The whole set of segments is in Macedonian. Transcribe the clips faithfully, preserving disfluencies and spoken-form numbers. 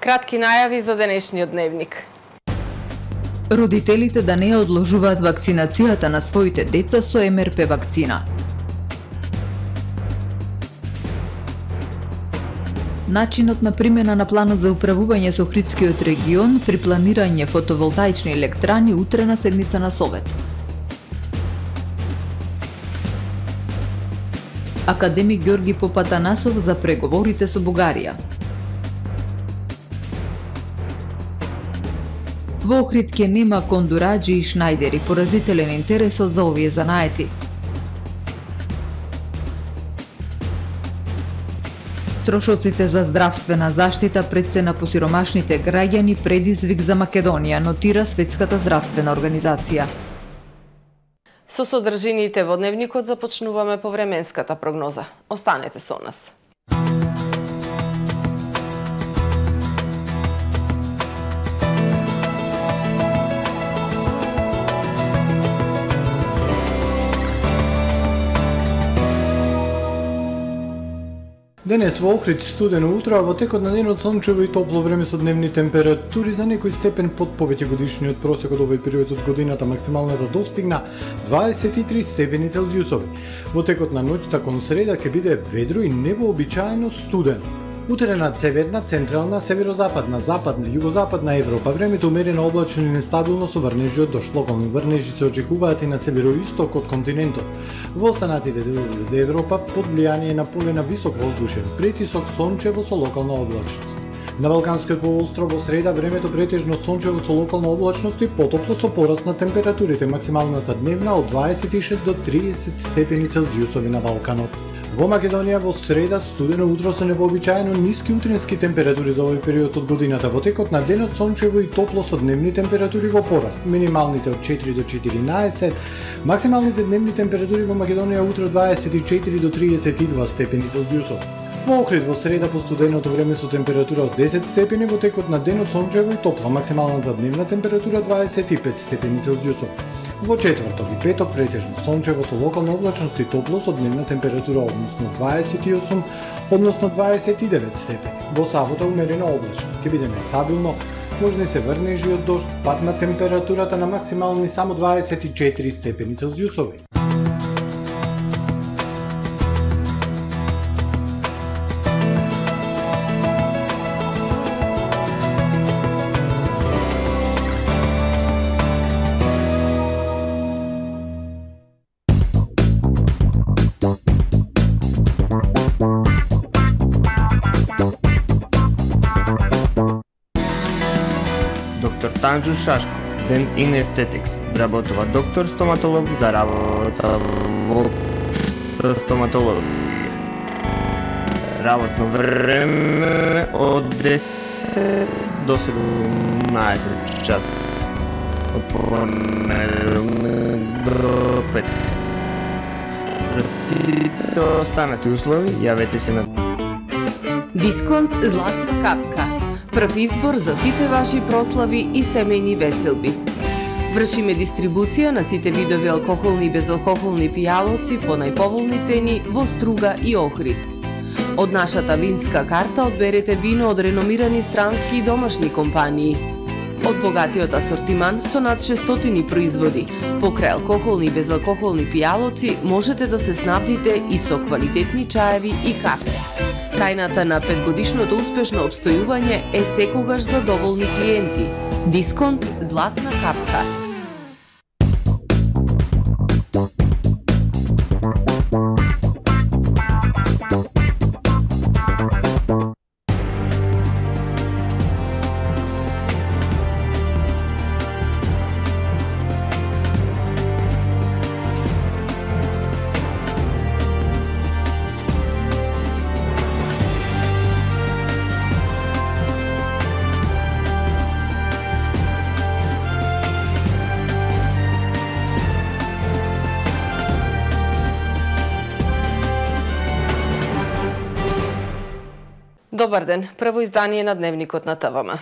кратки најави за денешниот дневник. Родителите да не одложуваат вакцинацијата на своите деца со Ем Ер Пе вакцина. Начинот на примена на планот за управување со Охридскиот регион при планирање фотоволтаични електрани утрена седница на Совет. Академик Ѓорги Попатанасов за преговорите со Бугарија. Во Охрид ќе нема кондураџи и шнајдери, поразителен интересот за овие занаети. Трошоците за здравствена заштита пред се на посиромашните граѓани предизвик за Македонија, нотира Светската здравствена организација. Со содржините во дневникот започнуваме по временската прогноза. Останете со нас. Денес во Охрид студено утро, а во текот на денот сончево и топло време со дневни температури за некој степен под повеќегодишниот просек од овој период од годината. Максималната достигна дваесет и три степени Целзиусови. Во текот на ноќта кон среда ќе биде ведро и невообичаено студено. Утре над северна, централна, северозападна, западна, југозападна Европа времето умерено облачно и нестабилно со врнежи од дожд. Локални врнежи се очекуваат и на североисток од континентот. Во останатите делови од Европа под влијание на полена висок воздушен притисок, сончево со локална облачност. На Балканскиот полуостров во среда времето претежно сончево со локална облачност и потопло со пораст на температурите. Максималната дневна од дваесет и шест до триесет степени Целзиусови на Балканот. Во Македонија во среда студено утро со невообичаено ниски утрински температури за овој период од годината. Во текот на денот сончево и топло со дневни температури во пораст. Минималните од четири до четиринаесет, максималните дневни температури во Македонија утре дваесет и четири до триесет и два степени Целзиусови. Во Охрид во среда по студеното време со температура од десет степени, во текот на денот сончево и топло, максималната дневна температура дваесет и пет степени Целзиусови. Во четврток и петок претежно сончево со локална облачност и топло со дневна температура односно дваесет и осум, односно дваесет и девет степени. Во сабота умерено облачно, ќе биде нестабилно, можни се врнежи од дожд, пад на температурата на максимални само дваесет и четири степени Целзиусови. Танжу Шашко, Дент ин Aesthetics, вработува доктор стоматолог за работа во општа стоматологија. Работно време од десет до седумнаесет час, од понеделник до петок. За сите останати услови јавете се на Дисконт Златна капка. Прв избор за сите ваши прослави и семејни веселби. Вршиме дистрибуција на сите видови алкохолни и безалкохолни пијалоци по најповолни цени во Струга и Охрид. Од нашата винска карта одберете вино од реномирани странски и домашни компании. Од богатиот асортиман со над шестстотини производи, покрај алкохолни и безалкохолни пијалоци можете да се снабдите и со квалитетни чаеви и кафе. Тајната на петгодишното успешно обстојување е секогаш задоволни клиенти. Дисконт Златна капка. Добар ден, прво издание на Дневникот на Т В М.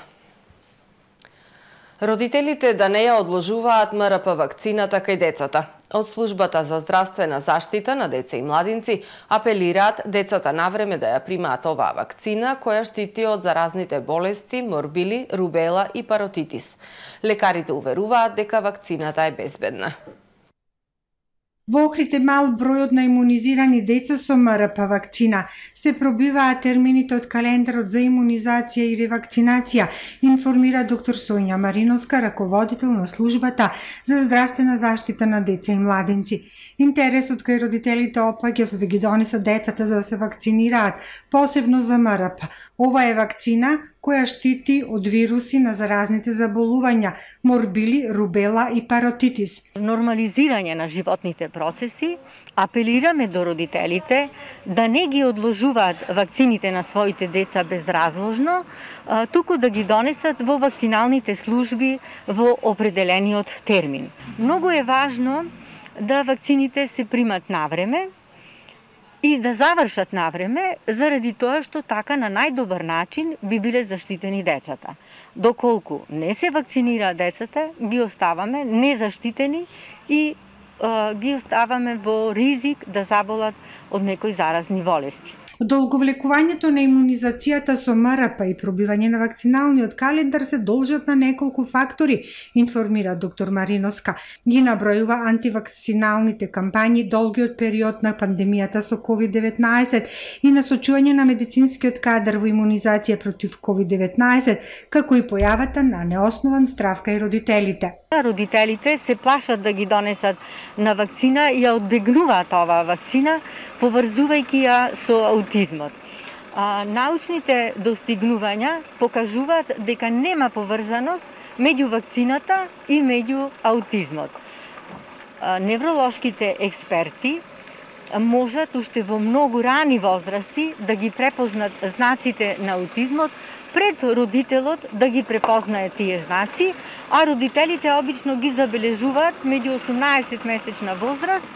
Родителите да не ја одложуваат М Р П вакцината кај децата. Од Службата за здравствена заштита на деца и младинци апелираат децата навреме да ја примаат оваа вакцина која штити од заразните болести, морбили, рубела и паротитис. Лекарите уверуваат дека вакцината е безбедна. Во Охрид е мал бројот на имунизирани деца со М Р П вакцина. Се пробиваат термините од календарот за имунизација и ревакцинација, информира доктор Соња Мариновска, раководител на Службата за здравствена заштита на деца и младинци. Интересот кај родителите опаѓа за да ги донесат децата за да се вакцинираат, посебно за М Р П. Ова е вакцина која штити од вируси на заразните заболувања, морбили, рубела и паротитис. Нормализирање на животните процеси, апелираме до родителите да не ги одложуваат вакцините на своите деца безразложно, туку да ги донесат во вакциналните служби во определениот термин. Многу е важно да вакцините се примат навреме и да завршат навреме, заради тоа што така на најдобар начин би биле заштитени децата. Доколку не се вакцинираат децата, ги оставаме незаштитени и е, ги оставаме во ризик да заболат од некои заразни болести. Одолговлекувањето на имунизацијата со М Р П и пробивање на вакциналниот календар се должат на неколку фактори, информира доктор Мариновска. Ги набројува антивакциналните кампањи, долгиот период на пандемијата со ковид деветнаесет и насочување на медицинскиот кадар во имунизација против ковид деветнаесет, како и појавата на неоснован страв кај родителите. Родителите се плашат да ги донесат на вакцина и ја одбегнуваат оваа вакцина, поврзувајќи ја со аутизмот. А, научните достигнувања покажуваат дека нема поврзаност меѓу вакцината и меѓу аутизмот. А, невролошките експерти можат уште во многу рани возрасти да ги препознат знаците на аутизмот пред родителот да ги препознае тие знаци, а родителите обично ги забележуваат меѓу осумнаесет месечна возраст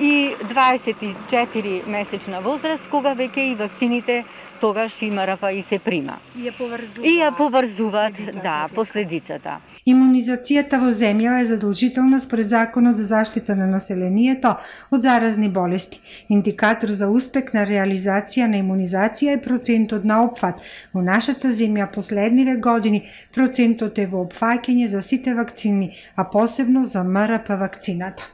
и дваесет и четири месечна возраст, кога веќе и вакцините тогаш и М Р П и се прима. И ја поврзуваат. И ја поврзуваат, да, последицата. Имунизацијата во земја е задолжителна според Законот за заштита на населението од заразни болести. Индикатор за успех на реализација на имунизација е процентот на опфат. Во нашата земја последниве години процентот е во опфаќање за сите вакцини, а посебно за М Р П вакцината.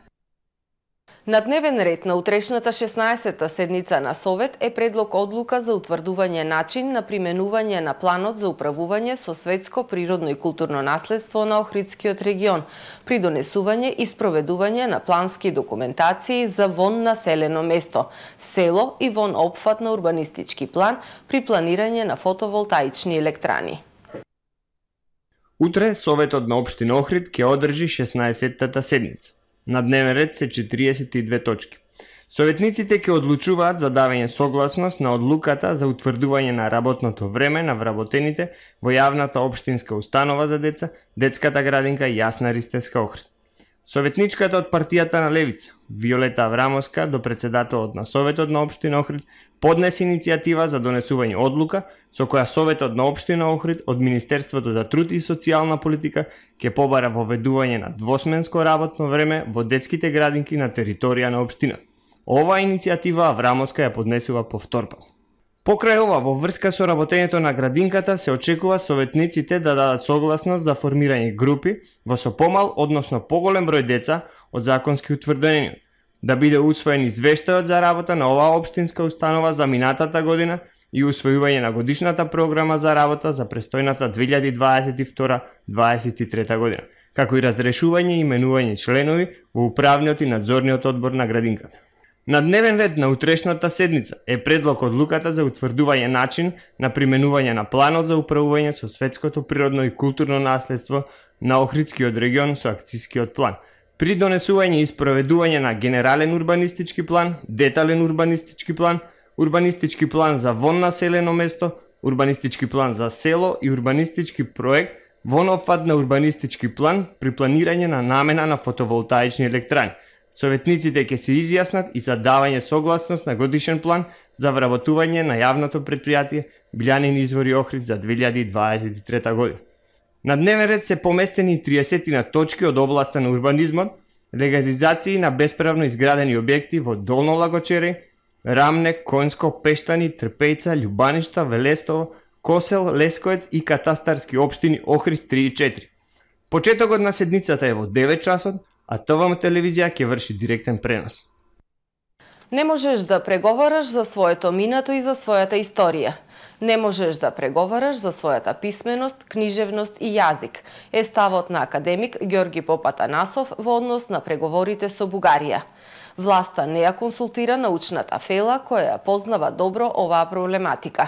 На дневен ред на утрешната шеснаесетта седница на Совет е предлог одлука за утврдување начин на применување на планот за управување со светско природно и културно наследство на Охридскиот регион, при донесување и спроведување на плански документации за вон населено место, село и вон опфат на урбанистички план при планирање на фотоволтаични електрани. Утре Советот на Општина Охрид ќе одржи шеснаесеттата седница. На дневен ред се четириесет и две точки. Советниците ќе одлучуваат за давање согласност на одлуката за утврдување на работното време на вработените во јавната општинска установа за деца, детската градинка Јасна Ристевска Охрид. Советничката од партијата на Левица, Виолета Аврамовска, до председателот на Советот на Општина Охрид, поднесе иницијатива за донесување одлука со која Советот на Општина Охрид од Министерството за труд и социјална политика ќе побара воведување на двосменско работно време во детските градинки на територија на општината. Оваа иницијатива Аврамовска ја поднесува повторпат. Покрај ова, во врска со работењето на градинката, се очекува советниците да дадат согласност за формирање групи во со помал, односно поголем број деца од законски утврдениот, да биде усвоен извештајот за работа на оваа општинска установа за минатата година и усвојување на годишната програма за работа за престојната две илјади дваесет и втора - дваесет и трета година, како и разрешување и именување чланови во управниот и надзорниот одбор на градинката. На дневен ред на утрешната седница е предлог одлуката за утврдување начин на применување на планот за управување со светското природно и културно наследство на Охридскиот регион со акцијскиот план, при донесување и спроведување на генерален урбанистички план, детален урбанистички план, урбанистички план за вон населено место, урбанистички план за село и урбанистички проект вон опфат на урбанистички план при планирање на намена на фотоволтаични електрани. Советниците ќе се изјаснат и за давање согласност на годишен план за вработување на јавното претпријатие Билјанин извори Охрид за две илјади дваесет и трета година. На дневен ред се поместени триесет точки од областа на урбанизмот, легализации на бесправно изградени објекти во Долно Лагочери, Рамне, Коњско, Пештани, Трпејца, Љубаништа, Велестово, Косел, Лесковец и катастарски општини Охрид три и четири. Почетокот на седницата е во девет часот, а ТВМ телевизија ќе врши директен пренос. Не можеш да преговараш за своето минато и за својата историја. Не можеш да преговараш за својата писменост, книжевност и јазик, е ставот на академик Ѓорги Попатанасов во однос на преговорите со Бугарија. Власта не ја консултира научната фела која ја познава добро оваа проблематика.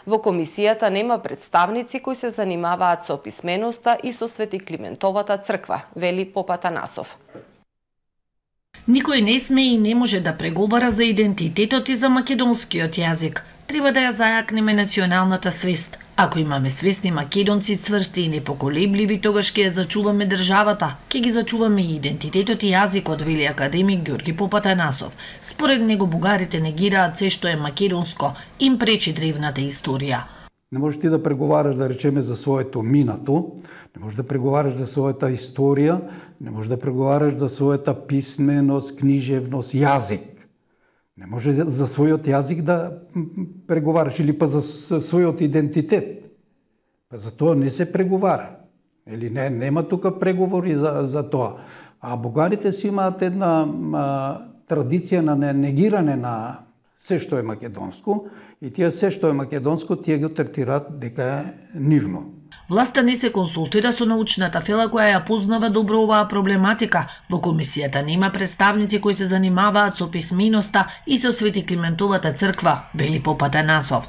Во комисијата нема представници кои се занимаваат со писменоста и со Свети Климентовата црква, вели Попатанасов. Никој не сме и не може да преговара за идентитетот и за македонскиот јазик. Треба да ја зајакнеме националната свест. Ако имаме свесни македонци цврсти и непоколебливи, тогаш ќе ја зачуваме државата, ќе ги зачуваме и идентитетот и јазикот, вели академик Ѓорги Попатанасов. Според него бугарите негираат се што е македонско, им пречи древната историја. Не можеш ти да преговараш, да речеме, за своето минато, не можеш да преговараш за својата историја, не можеш да преговараш за својата писменост, книжевност, јазик. Не може за својот јазик да преговараш или па за својот идентитет. Па за тоа не се преговара. Или не, нема тука преговори за, за тоа. А бугарите си имаат една а, традиција на негиране на се што е македонско и тие се што е македонско, тие го третираат дека е нивно. Власта не се консултира со научната фела која ја познава добро оваа проблематика. Во комисијата нема представници кои се занимаваат со писменоста и со Свети Климентовата црква, вели Попатанасов.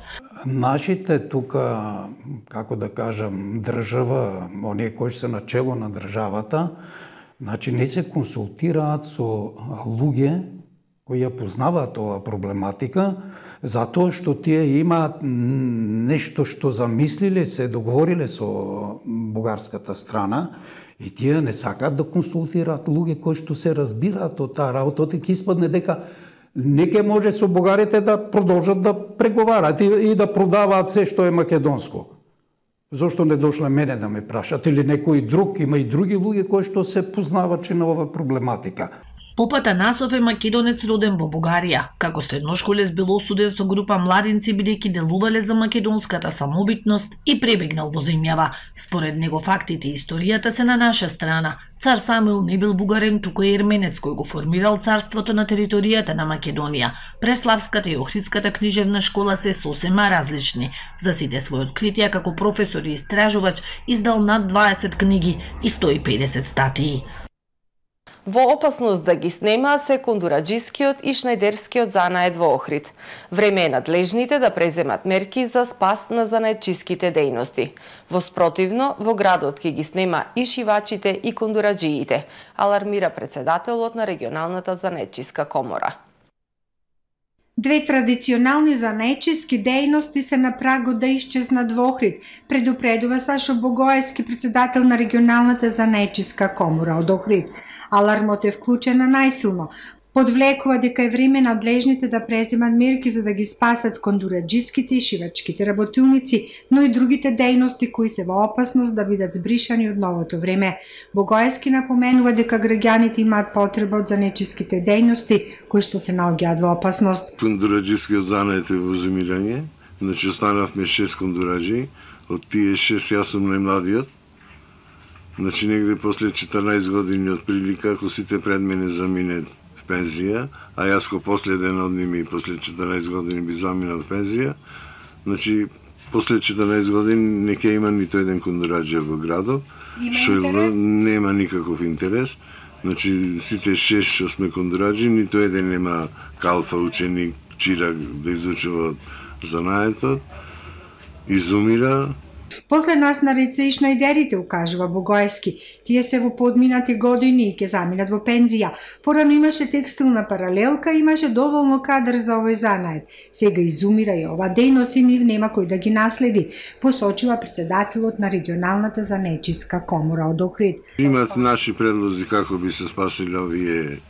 Нашите тука, како да кажам, држава, оние кои се начело на државата, значи не се консултираат со луѓе кои ја познаваат оваа проблематика, затоа што тие имаат нешто што замислиле, се договориле со бугарската страна и тие не сакаат да консултираат луѓе кои што се разбираат од таа работа, ќе испадне дека не ќе може со бугарите да продолжат да преговараат и да продаваат се што е македонско. Зошто не дошле мене да ме прашат или некој друг, има и други луѓе кои што се познавачи на оваа проблематика. Попатанасов е македонец роден во Бугарија. Како средношколец бил осуден со група младинци бидејќи делувале за македонската самобитност и пребегнал во земјава. Според него фактите и историјата се на наша страна. Цар Самуил не бил бугарен, туку е ерменец кој го формирал царството на територијата на Македонија. Преславската и Охридската книжевна школа се сосема различни. За сите своји откритија како професор и истражувач издал над дваесет книги и сто и педесет статии. Во опасност да ги снема се кондураџискиот и шнајдерскиот занает во Охрид. Време е надлежните да преземат мерки за спас на занаетчиските дејности. Во спротивно, во градот ќе ги снема и шивачите и кондураџиите, алармира председателот на регионалната занаетчиска комора. Две традиционални занаетчиски дејности се на прагот да исчезнат во Охрид, предупредува Сашо Богоевски, председател на регионалната занаетчиска комора од Охрид. Алармот е вклучена најсилно. Подвлекува дека е време надлежните да преземат мерки за да ги спасат кондураџиските и шивачките работилници, но и другите дејности кои се во опасност да бидат збришани од новото време. Богоевски напоменува дека граѓаните имаат потреба од занаетчиските дејности кои што се наоѓаат во опасност. Кондураџискиот занает е во зумирање, значи останавме шест кондураџи, од тие шест јас сум најмладиот. Значи негде после четрнаесет години од прилика, ако сите пред мене заминат в пензија, а јас ко последен од ними после четрнаесет години би заминат в пензија, значи после четрнаесет години не ќе има нито еден кондураџија во градот, што нема никаков интерес. Значи сите шест што сме кондураџи, нито еден нема калфа, ученик, чирак да изучува занаетот, изумира. После нас на реце и шнајдерите, укажува Богоевски. Тие се во подминати години и ќе заминат во пензија. Порано имаше текстилна паралелка, имаше доволно кадар за овој занает. Сега изумира и ова дејност и нив нема кој да ги наследи, посочува председателот на регионалната занаетчиска комора од Охрид. Имат наши предлози како би се спасили овие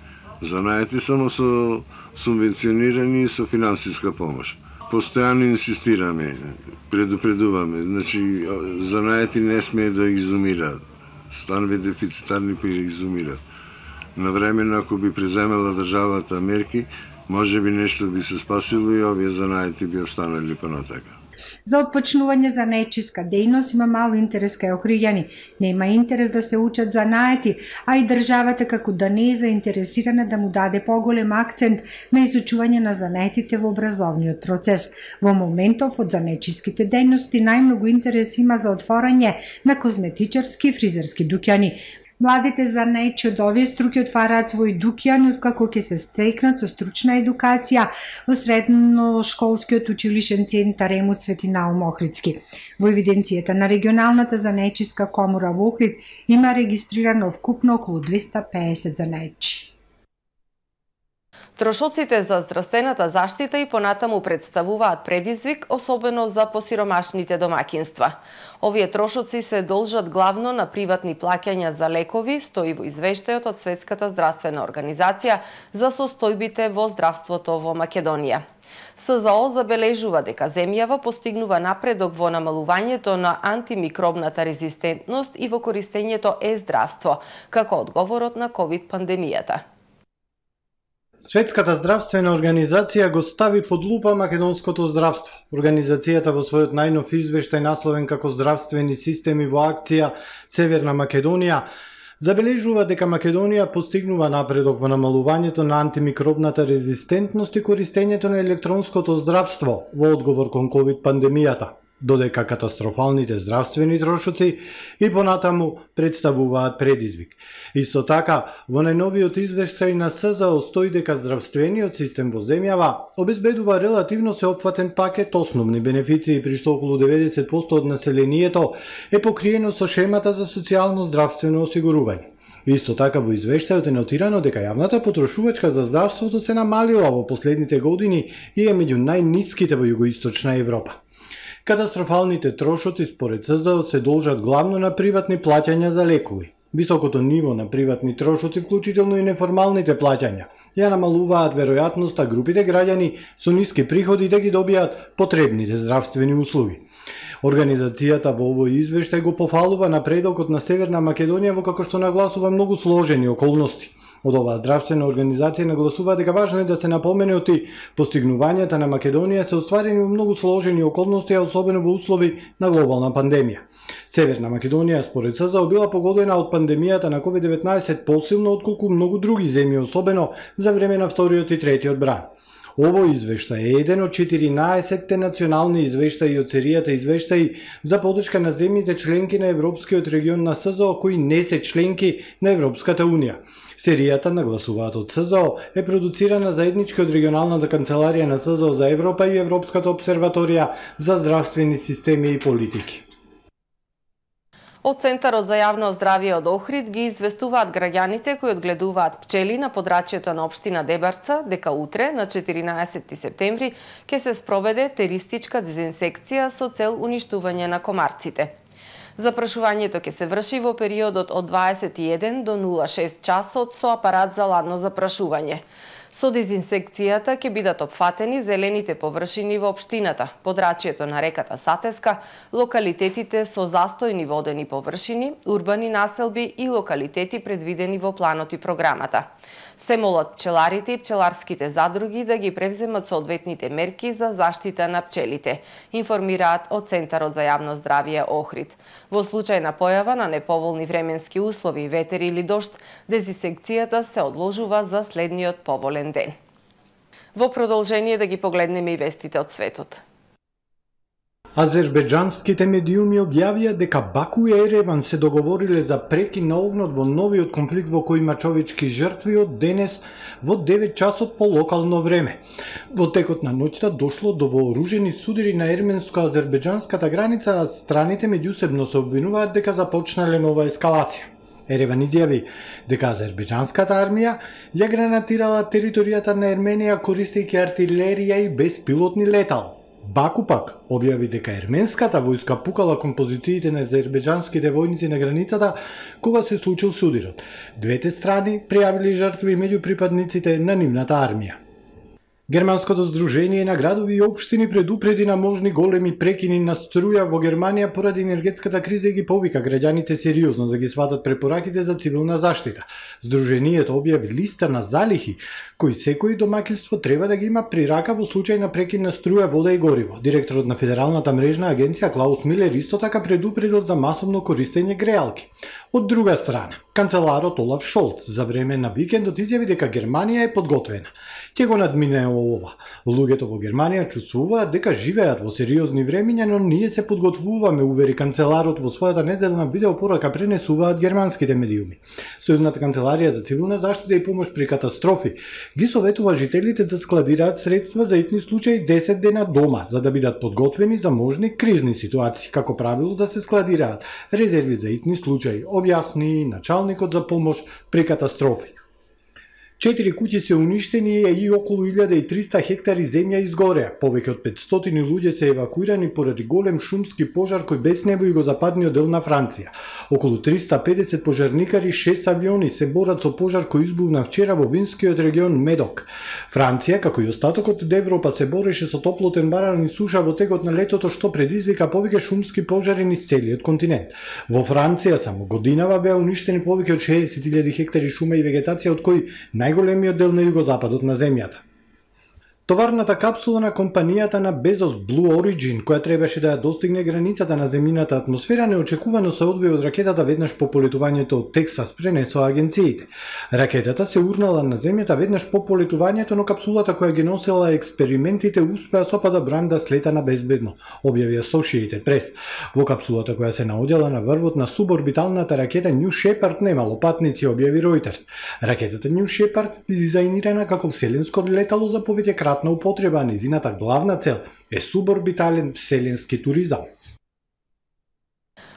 занаети, само со субвенционирани и со финансиска помош. Постојано инсистираме, предупредуваме, значи занаети не смее да изумираат. Станови дефицитарни па изумираат. Навремено ако би преземела државата мерки, може би нешто би се спасило и овие занаети би останали понатака. За отпочнување за наечиска дејност има мало интерес кај охриѓани. Нема интерес да се учат занаети, а и државата како да не е заинтересирана да му даде поголем акцент на изучување на занаетите во образовниот процес. Во моментов од занаечиските дејности најмногу интерес има за отворање на козметичарски и фризерски дуќани. Младите занаечи од овие струки отвараат своји дуќани откако ќе се стекнат со стручна едукација во средношколскиот училишен центар Емус Свети Наум Охридски. Во евиденцијата на регионалната занаечиска комора во Охрид има регистрирано вкупно околу двеста пеесет занаечи. Трошоците за здравствената заштита и понатаму представуваат предизвик, особено за посиромашните домакинства. Овие трошоци се должат главно на приватни плаќања за лекови, стои во извештајот од Светската здравствена организација за состојбите во здравството во Македонија. СЗО забележува дека земјава постигнува напредок во намалувањето на антимикробната резистентност и во користењето е-здравство, како одговорот на ковид пандемијата. Светската здравствена организација го стави под лупа македонското здравство. Организацијата во својот најнов извештај насловен како Здравствени системи во акција Северна Македонија забележува дека Македонија постигнува напредок во намалувањето на антимикробната резистентност и користењето на електронското здравство во одговор кон ковид пандемијата, додека катастрофалните здравствени трошоци и понатаму представуваат предизвик. Исто така, во најновиот извештај на СЗО стои дека здравствениот систем во земјава обезбедува релативно сеопфатен пакет основни бенефиции, при што околу деветдесет проценти од населението е покриено со шемата за социјално здравствено осигурување. Исто така во извештајот е нотирано дека јавната потрошувачка за здравството се намалила во последните години и е меѓу најниските во југоисточна Европа. Катастрофалните трошоци според СЗО се должат главно на приватни плаќања за лекови. Високото ниво на приватни трошоци, вклучително и неформалните плаќања, ја намалуваат веројатноста групите граѓани со ниски приходи да ги добијат потребните здравствени услуги. Организацијата во овој извештај го пофалува напредокот на Северна Македонија во како што нагласува многу сложени околности. Од оваа здравствена организација нагласува дека важно е да се напоменети постигнувањата на Македонија се остварени во многу сложени околности, а особено во услови на глобална пандемија. Северна Македонија според СЗО била погодена од пандемијата на ковид деветнаесет посилно отколку многу други земји, особено за време на вториот и третиот бран. Овој извештај е еден од четиринаесетте национални извештаи од серијата извештаи за подршка на земјите членки на Европскиот регион на СЗО кои не се членки на Европската унија. Серијата, нагласуваат од СЗО, е продуцирана заеднички од регионалната канцеларија на СЗО за Европа и Европската обсерваторија за здравствени системи и политики. Од Центарот за јавно здравје од Охрид ги известуваат граѓаните кои одгледуваат пчели на подрачјето на општина Дебарца дека утре, на четиринаесети септември, ќе се спроведе теристичка дезинсекција со цел уништување на комарците. Запрашувањето ќе се врши во периодот од дваесет и еден до нула шест часот со апарат за ладно запрашување. Со дезинсекцијата ќе бидат опфатени зелените површини во општината, подрачјето на реката Сатеска, локалитетите со застојни водени површини, урбани населби и локалитети предвидени во планот и програмата. Се молат пчеларите и пчеларските задруги да ги превземат соодветните мерки за заштита на пчелите, информираат од Центарот за јавно здравје Охрид. Во случај на појава на неповолни временски услови, ветер или дожд, дезинсекцијата се одложува за следниот поволен ден. Во продолжение да ги погледнеме и вестите од светот. Азербеџанските медиуми објавија дека Баку и Ереван се договориле за прекин на огнот во новиот конфликт во кој има човечки жртви од денес во девет часот по локално време. Во текот на ноќта дошло до вооружени судири на ерменско-азербеџанската граница, а страните меѓусебно се обвинуваат дека започнале нова ескалација. Ереван изјави дека азербеџанската армија ја гранатирала територијата на Ерменија користејќи артилерија и беспилотни летала. Баку пак објави дека ерменската војска пукала кон позициите на азербеџанските војници на границата кога се случил судирот. Двете страни пријавили жртви меѓу припадниците на нивната армија. Германското здружение на градови и општини предупреди на можни големи прекини на струја во Германија поради енергетската криза и ги повика граѓаните сериозно да ги сватат препораките за цивилна заштита. Здруженијето објави листа на залихи кои секој домаќинство треба да ги има при рака во случај на прекин на струја, вода и гориво. Директорот на Федералната мрежна агенција Клаус Милер исто така предупредил за масовно користење греалки. Од друга страна, канцеларот Олаф Шолц за време на викендот изјави дека Германија е подготвена. Ќе го надмине ова. Луѓето во Германија чувствуваат дека живеат во сериозни времиња, но ние се подготвуваме, увери канцеларот во својата неделна видеопорака, пренесуваат германските медиуми. Сојузната канцеларија за цивилна заштита и помош при катастрофи ги советува жителите да складираат средства за итни случаи десет дена дома, за да бидат подготвени за можни кризни ситуации, како правило да се складираат резерви за итни случаи, објасни началникот за помош при катастрофи. Четири куќи се уништени и околу илјада и триста хектари земја изгореа. Повеќе од петстотини луѓе се евакуирани поради голем шумски пожар кој беснево југозападниот дел на Франција. Околу триста и педесет пожарникари, шест авиони се борат со пожар кој избувна вчера во винскиот регион Медок. Франција, како и остатокот од Европа, се бореше со топлотен баран и суша во текот на летото, што предизвика повеќе шумски пожари низ целиот континент. Во Франција само годинава беа уништени повеќе од шеесет илјади хектари шума и вегетација, од кои најголемиот дел на југозападот на земјата. Товарната капсула на компанијата на Безос Blue Origin, која требаше да ја достигне границата на земјината атмосфера, неочекувано се одвои од ракетата веднаш по полетувањето од Тексас, пренесоа агенциите. Ракетата се урнала на земјата веднаш по полетувањето, но капсулата која ги носела експериментите успеа со падобран да слета на безбедно, објави Associated Press. Во капсулата која се наоѓала на врвот на суборбиталната ракета New Shepard немало патници, објави Reuters. Ракетата New Shepard е дизајнирана како вселенско летало за повеќе кратна употреба, незината главна цел е суборбитален вселенски туризам.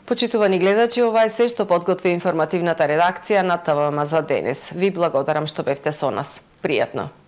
Почитувани гледачи, ова е се што подготви информативната редакција на ТВМ за денес. Ви благодарам што бевте со нас. Пријатно!